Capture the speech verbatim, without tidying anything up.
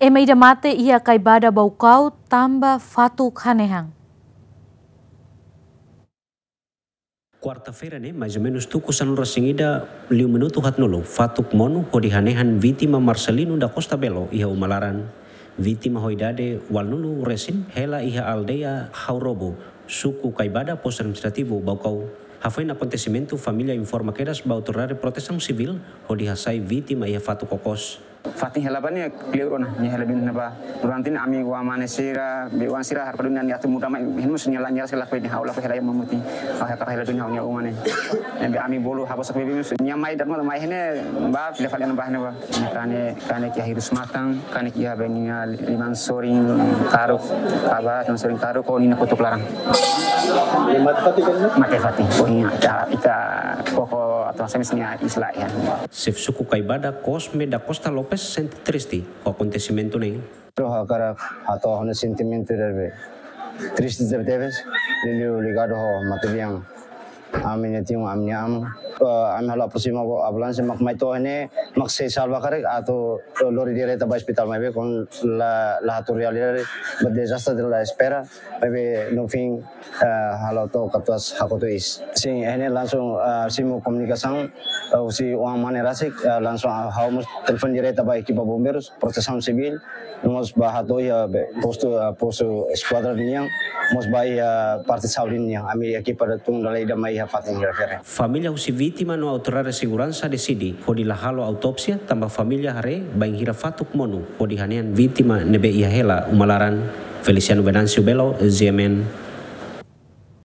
Ema ida mate iha Kaibada Baucau tanba fatuk hanehan. Kuarta-feira ne'e, mais ou menus tuku sanulu resin ida liu minutu haatnulu, fatuk monu hodi hanehan vítima Marcelino da Costa Belo iha uma laran. Vítima ho idade ualunulu resin hela iha aldeia Haurobo, suku Kaibada, postu administrativu Baucau. Hafoin akontesimentu, família informa kedas ba autoridade protesaun sivíl hodi hasai vítima iha fatuk okos. Fatin hela ba ne'e kleur ona, nia hela duni ba. Durante ne'e ami oan mane sira, be oan sira harpa duni nia atu muda mai, hemu nia la, nia la sira lakohi, ha'u lakohi hela iha mamuti. Ha'u hakarak hela duni ha'u-nia uma ne'e. Ne'ebé ami bolu habosak beibeik, nia mai da'et mak mai iha ne'e ba, fila fali ona ba iha ne'e ba. Kanek, kanek iha hirus matan, kanek iha be nia liman sorin karuk, kaba, liman sorin karuk, ho nia kotuk laran. Mate fatin kan? Mate fatin. Pokoknya ita, ita koko atu hanesan nia iis la iha. Xefe suku Kaibada, Cosme da Costa Lopes, sente triste ho akontesimentu ne'e. Ha'u hakarak hato'o ha'u-nia sentimentu ida be triste tebetebes, liuliu ligadu ho matebian ami-nia tiun, ami-nia aman. Eh, ami halo aproxima ho ambulánsia mak mai to'o iha ne'e, mak sei salva karik atu lori direta ba ospitál, maibé kuandu la, la hatuur realidade, ba dezastre la espera, maibé no fim, eh, halo to'o katuas hakotu iis. Sin, iha ne'e langsung, eh, simu komunikasaun, eh, husi oan mane rasik, eh, langsung, ah, ha'u mós telefone direta ba ekipa bombeirus, protesaun sivíl, no mós ba hato'o iha be postu, eh, postu eskuadra nian, mós ba iha parte saúde nian, ami ekipa ida tun dala ida mai iha fatin refere. Família husi vítima no autoridade seguransa deside hodi la halo autópsia, tanba família haree bainhira fatuk monu hodi hanehan vítima ne'ebé iha hela uma laran. Feliciano Venâncio Belo, G M N,